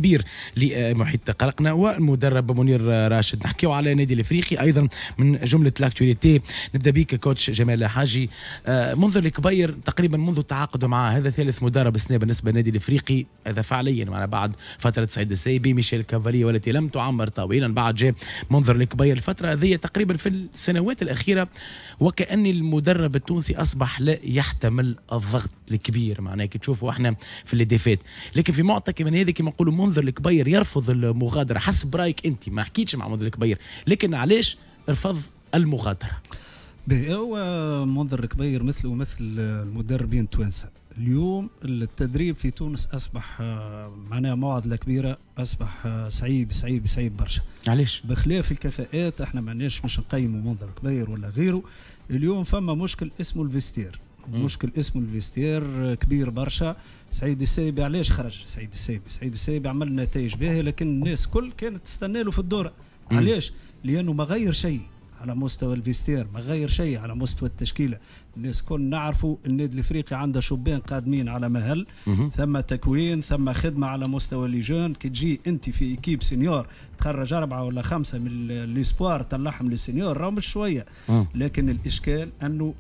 كبير لمحيط قلقنا والمدرب منير راشد. نحكيو على النادي الافريقي ايضا من جملة l'actualité. نبدا بيك coach جمال حاجي. منذر الكبير تقريبا منذ التعاقد معه هذا ثالث مدرب السنة بالنسبة للنادي الافريقي، هذا فعليا معنا بعد فترة سعيد السايبي، ميشيل كافالي والتي لم تعمر طويلا، بعد جاء منذر الكبير. الفترة هذه تقريبا في السنوات الاخيرة وكأن المدرب التونسي اصبح لا يحتمل الضغط الكبير، معناها كي تشوفوا احنا في les défaites، لكن في معطى من هذه كما نقولوا منذر الكبير يرفض المغادرة. حسب رايك انت، ما حكيتش مع منذر الكبير، لكن علاش رفض المغادرة؟ هو منذر الكبير مثله مثل المدربين التوانسة. اليوم التدريب في تونس اصبح معناها معضلة كبيره، اصبح صعيب صعيب صعيب برشا. علاش؟ بخلاف الكفاءات احنا معناش مش نقيموا منذر كبير ولا غيره. اليوم فما مشكل اسمه ال vestiaire، مشكل اسمه ال vestiaire كبير برشا. سعيد السايبي علاش خرج سعيد السايبي؟ سعيد السايبي عمل نتائج باهيه، لكن الناس كل كانت تستنى له في الدورة. علاش؟ لانه ما غير شيء على مستوى ال vestiaire، ما غير شيء على مستوى التشكيله. الناس كل نعرفوا النادي الافريقي عنده شبان قادمين على مهل، ثم تكوين، ثم خدمة على مستوى les jeunes. كي تجي انت في équipe senior تخرج اربعة ولا خمسة من les espoirs تطلعهم les seniors، راهو مش شويه. لكن الاشكال انه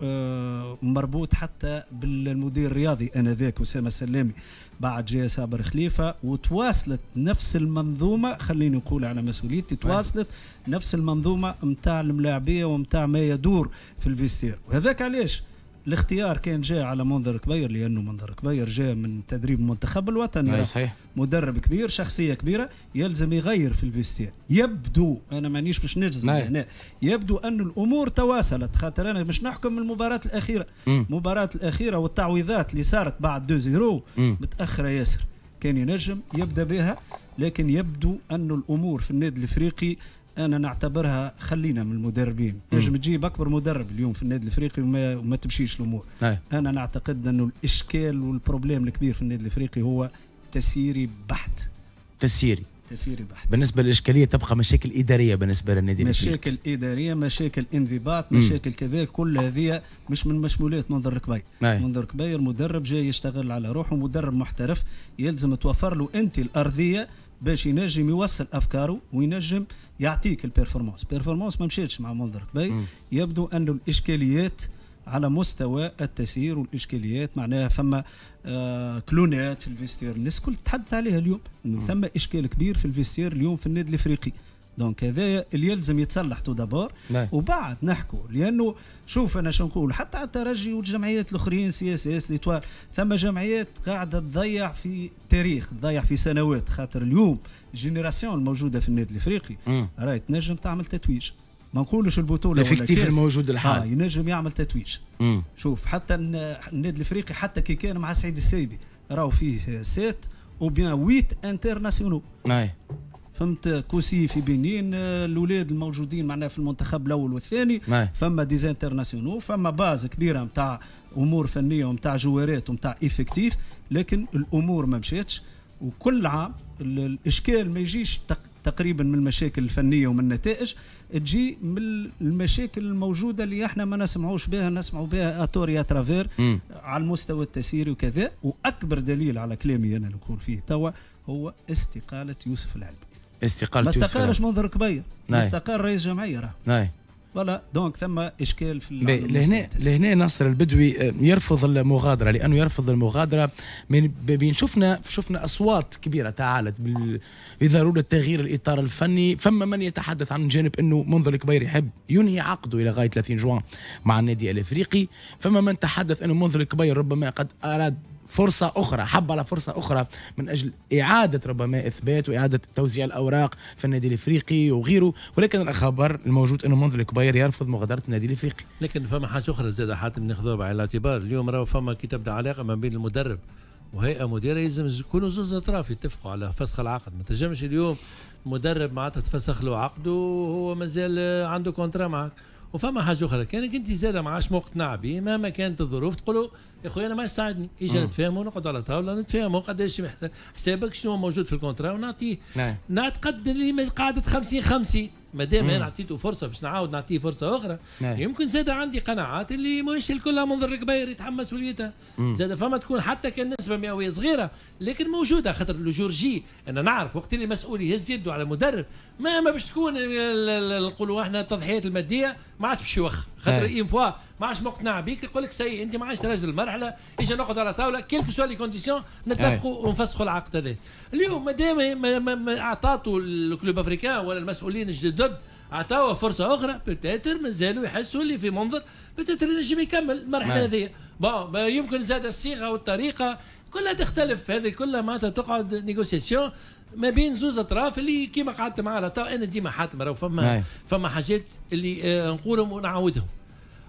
مربوط حتى بالمدير الرياضي انذاك اسامة السلامي، بعد جاء صابر خليفة وتواصلت نفس المنظومه، خليني نقول على مسؤوليتي، تواصلت نفس المنظومة نتاع الملاعبيه ومتاع ما يدور في ال vestiaire. وهذاك علاش الاختيار كان جاء على منذر كبير، لانه منذر كبير جاء من تدريب المنتخب الوطني، صحيح، مدرب كبير، شخصية كبيره، يلزم يغير في ال vestiaire. يبدو انا مانيش باش نجزم هنا، يبدو ان الامور تواصلت، خاطر انا مش نحكم المباراة الاخيره، المباراة الاخيرة والتعويضات اللي صارت بعد 2-0 متاخرة ياسر، كان ينجم يبدا بها. لكن يبدو أن الأمور في النادي الإفريقي انا نعتبرها، خلينا من المدربين، نجم تجيب اكبر مدرب اليوم في النادي الافريقي وما تمشيش الامور. انا نعتقد انه الاشكال وال problème الكبير في النادي الافريقي هو تسييري بحت. تسييري، تسييري بحت. بالنسبة للاشكاليه تبقى مشاكل ادارية بالنسبة للنادي الافريقي، مشاكل اداريه، مشاكل انضباط، مشاكل كذا، كل هذه مش من مشمولات منذر الكبير. منذر الكبير مدرب جاي يشتغل على روحه، مدرب محترف، يلزم توفر له انت الارضية باش ينجم يوصل افكاره وينجم يعطيك ال performance. performance ما مشيتش مع منذر كبير. يبدو أن الاشكاليات على مستوى التسيير، والاشكاليات معناها فما كلونات في ال vestiaire، الناس الكل تتحدث عليها اليوم، انه ثم اشكال كبير في ال vestiaire اليوم في النادي الافريقي. donc هذا اللي يلزم يتصلح tout d'abord وبعد نحكوا. لانه شوف انا شو نقول، حتى على الترجي والجمعيات الاخرين، CSS، l'Étoile، ثم جمعيات قاعدة تضيع في تاريخ، تضيع في سنوات، خاطر اليوم génération الموجودة في النادي الافريقي راهي تنجم تعمل تتويج، ما نقولوش البطوله، l'effectif الموجود الحالي ينجم يعمل تتويج. شوف حتى النادي الافريقي حتى كي كان مع سعيد السايبي راهو فيه 7 ou bien 8 internationaux. فهمت، كوسي في بنين، الاولاد الموجودين معنا في المنتخب الاول والثاني، فما des internationaux، فما base كبيرة نتاع امور فنية ونتاع جوارات ونتاع effectif، لكن الامور ما مشاتش. وكل عام الاشكال ما يجيش تقريبا من المشاكل الفنية ومن النتائج، تجي من المشاكل الموجودة اللي احنا ما نسمعوش بها، نسمعوا بها à tort et à travers على المستوى التسييري وكذا. واكبر دليل على كلامي انا اللي نقول فيه توا هو استقالة يوسف العلمي. استقالة ما استقالش منذر كبير، ما استقال رئيس جمعية راه. voilà، donc ثم اشكال في لهنا ناصر البدوي يرفض المغادره، لانه يرفض المغادرة من بين شفنا اصوات كبيرة تعالت بضرورة تغيير الاطار الفني. فما من يتحدث عن جانب انه منذر الكبير يحب ينهي عقده الى غاية 30 جوان مع النادي الافريقي، فما من تحدث انه منذر الكبير ربما قد اراد فرصة أخرى، حب على فرصة أخرى من أجل إعادة ربما إثبات وإعادة توزيع الأوراق في النادي الإفريقي وغيره، ولكن الخبر الموجود أنه منذر الكبير يرفض مغادرة النادي الإفريقي. لكن فما حاجة أخرى زاد حاتم ناخذوها بعين الاعتبار، اليوم راهو فما كي تبدا علاقة ما بين المدرب وهيئة مديرة يلزم يكونوا زوز أطراف يتفقوا على فسخ العقد. ما تنجمش اليوم مدرب معناتها تفسخ له عقده وهو مازال عنده contrat معك. وفما حاجة اخرى، كانك انت زاد ما عادش مقتنع به مهما كانت الظروف، تقول يا خويا انا ما يساعدني، اجا نتفاهموا، نقعدوا على طاولة نتفاهموا قداش حسابك، شنو موجود في ال contrat ونعطيه. نعتقد اللي قاعدة 50-50، ما دام انا عطيته فرصة باش نعاود نعطيه فرصة اخرى. يمكن زاد عندي قناعات اللي ماهيش الكل منظر الكبير يتحمل مسؤوليتها. زاد فما تكون حتى كان نسبه مئوية صغيرة لكن موجودة، خاطر le jour J انا نعرف وقت اللي المسؤول يهز يده على مدرب ما باش تكون نقولوا احنا التضحيات المادية ما عادش باش يوخر، خاطر une fois ما عادش مقتنع بيك يقول لك ça y est انت ما عادش راجل المرحلة، اجا نقعد على طاولة quelles que soient les conditions نتفقوا ونفسخوا العقد هذا. اليوم ما دام اعطاتوا ال Club Africain ولا المسؤولين الجدد عطاوه فرصة اخرى، peut-être مازالوا يحسوا اللي في منظر peut-être ينجم يكمل المرحلة هذه. bon يمكن زاد الصيغة والطريقة كلها تختلف، هذه كلها معناتها تقعد négociation ما بين زوز اطراف اللي كيما قعدت معاه. انا ديما حاتم راهو فما حاجات اللي نقولهم ونعاودهم،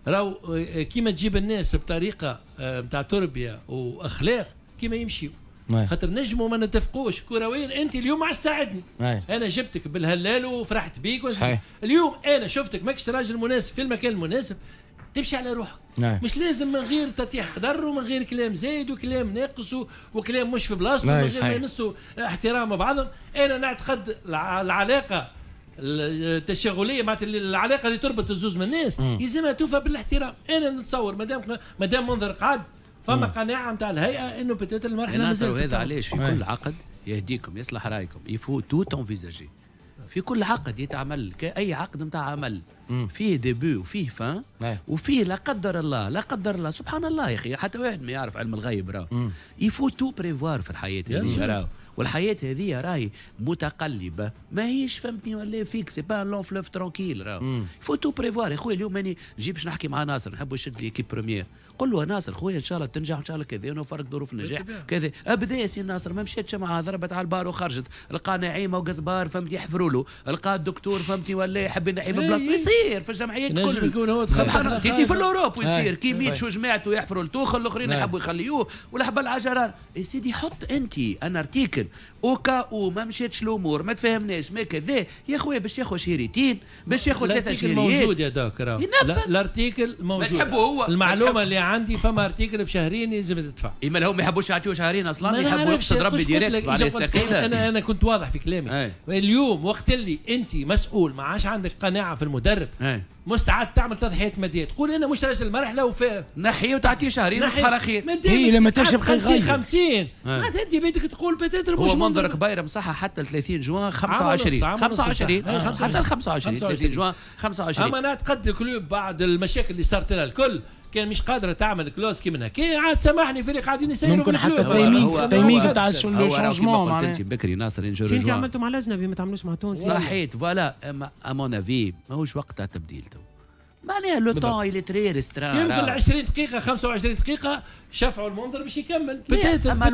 راهو كيما تجيب الناس بطريقة نتاع تربيه واخلاق كيما يمشيو، خاطر نجموا ما نتفقوش كرويا. انت اليوم ما عادش تساعدني، انا جبتك بالهلال وفرحت بيك. صحيح. اليوم انا شفتك ماكش راجل مناسب في المكان المناسب، تمشي على روحك. مش لازم من غير تطيح قدر ومن غير كلام زايد وكلام ناقص وكلام مش في بلاصته ومن غير ما يمسوا احترام بعضهم. انا نعتقد العلاقة التشاغليه معناتها العلاقة اللي تربط الزوز من الناس يلزمها توفى بالاحترام. انا نتصور مادام منظر قعد فما قناعة نتاع الهيئة انه peut-être المرحلة مازالت. هذا علاش في كل عقد يهديكم يصلح رايكم il faut tout envisager. في كل عقد يتعمل كأي عقد نتاع عمل فيه début وفيه fin وفيه لا قدر الله لا قدر الله سبحان الله يا اخي، حتى واحد ما يعرف علم الغيب راه. il faut tout prévoir في الحياة هذه راه، والحياة هذه راهي متقلبة ماهيش فهمتني ولا fixe، c'est pas un long fleuve tranquille راه. il faut tout prévoir يا خويا. اليوم ماني نجي باش نحكي مع ناصر نحب يشد لي équipe première، قل له ناصر خويا ان شاء الله تنجح ان شاء الله كذا ونوفرك ظروف النجاح كذا. ابدا يا سي ناصر ما مشيتش معاه، ضربت على البار وخرجت، لقى نعيمه وقزبار فهمتني يحفروا له، لقى الدكتور فهمتني ولا يحب ينحي من بلاصته، يصير في الجمعيات الكل يكون هو سبحان الله في l'Europe ويصير كي ميتشو جماعته يحفروا لتوخل الاخرين يحبوا يخليوه والحبل العجران. يا سيدي حط انت un article au cas où ما مشاتش الامور ما تفهمناش ما كذا يا خويا، باش ياخذ شهريتين باش ياخذ 3 شهريات موجود يا doc راه l'article موجود. هو المعلومة اللي عندي فما article بشهرين يلزم تدفع. اما هم ما يحبوش يعطيو شهرين اصلا، يحبوا يقصد ربي direct. انا كنت واضح في كلامي. اليوم وقت اللي انت مسؤول ما عادش عندك قناعة في المدرب، مستعد تعمل تضحيات مادية، تقول انا مش راجل المرحلة وفي نحي وتعطيه شهرين على خير. هي لما تمشي 50 50 معناتها انت بيدك تقول peut-être مش هو منظر كبير مصحة حتى 30 جوان 25 25 حتى 25 30 جوان 25. اما انا نعتقد ال club بعد المشاكل اللي صارت لها الكل كان مش قادرة تعمل clause كيما هكا، عاد سامحني في اللي قاعدين يسيروا ممكن حتى ال timing تاع ال changement. قلت انت بكري ناصر انت عملتوا مع الاجنبي ما تعملوش مع تونسي. صحيت voilà à mon avis ماهوش وقت تبديل تو، معناها le temps il est très restreint. يمكن 20 دقيقة 25 دقيقة شفعوا المنظر باش يكمل. اما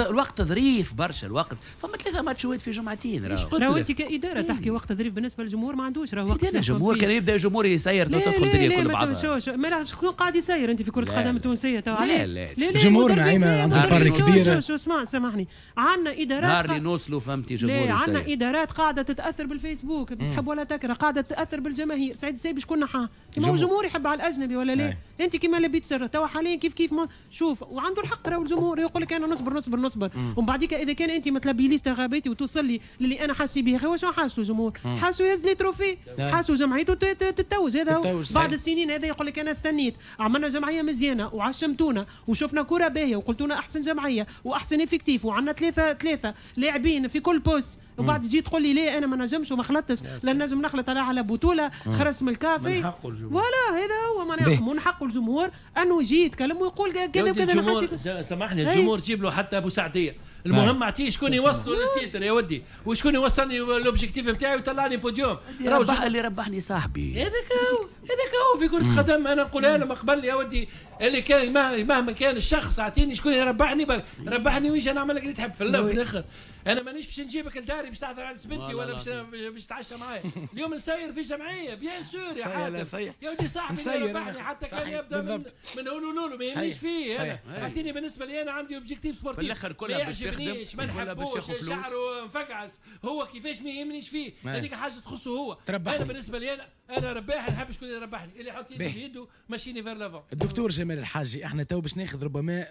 الوقت ظريف برشا، الوقت فما 3 ماتشات في جمعتين راهو. انت كادارة تحكي وقت ظريف بالنسبة للجمهور ما عندوش راهو وقت. الجمهور كان يبدا الجمهور يسير تدخل الدنيا كل بعضها. ما شكون قاعد يسير انت في كره القدم التونسية تو؟ لا لا الجمهور نعيمه عنده part كبيرة. شو اسمع سامحني، عندنا ادارات نهار اللي نوصلوا فهمتي جمهور يسير. عندنا ادارات قاعدة تتاثر بالفيسبوك تحب ولا تكره، قاعدة تتاثر بالجماهير. سعيد السايبي شكون نحاه؟ كيما هو الجمهور يحب على الاجنبي ولا لا؟ انت كيما لبيت سر توا حاليا كيف كيف ما شوف، وعنده الحق راهو الجمهور يقول لك انا نصبر نصبر نصبر، ومن بعديك اذا كان انت ما تلبيليش رغباتي وتوصل لي للي انا حاسس به، هو شنو حاسه الجمهور؟ حاسه يهز les trophées، حاسه جمعيته تتوج. هذا هو بعد السنين هذا يقول لك انا استنيت، عملنا جمعية مزيانه وعشمتونا وشفنا كره باهيه وقلتونا احسن جمعية واحسن effectif وعندنا ثلاثة لاعبين في كل poste، وبعد تجي تقول لي ليه انا ما نجمش وما خلطتش، لا نجم نخلط على بطوله خرجت من الكافي. voilà هذا هو معناها من حق الجمهور انه يجي يتكلم ويقول كذا وكذا. سامحني الجمهور جيب له حتى ابو سعديه، المهم اعطيه شكون يوصلوا لل titre يا ودي، وشكون يوصلني l'objectif نتاعي ويطلعني بوديوم. اللي ربحني صاحبي هذاك هو، هذاك هو في كرة القدم. انا نقولها لهم قبل يا ودي، اللي كان مهما كان الشخص اعطيني شكون يربحني، ربحني ويجي نعمل لك اللي تحب في الاخر. انا مانيش باش نجيبك لداري باش تحضر على بنتي ولا باش تتعشى معايا. اليوم نسير في جمعية bien sûr يا حاتم يا ودي، صاحبي اللي ربحني حتى كان يبدا من هولولولو ما يهمنيش فيه انا. اعطيني بالنسبة لي انا عندي objectif sportif في الاخر كلها باش يخدم ما نحبوش شعره مفقعس هو كيفاش ما يهمنيش فيه، هذيك حاجة تخصه هو. انا بالنسبة لي انا رباح نحب شكون يربحني، اللي يحط يده في يده ماشيني vers l'avant. الدكتور جمال الحاجي، احنا تو باش ناخذ ربما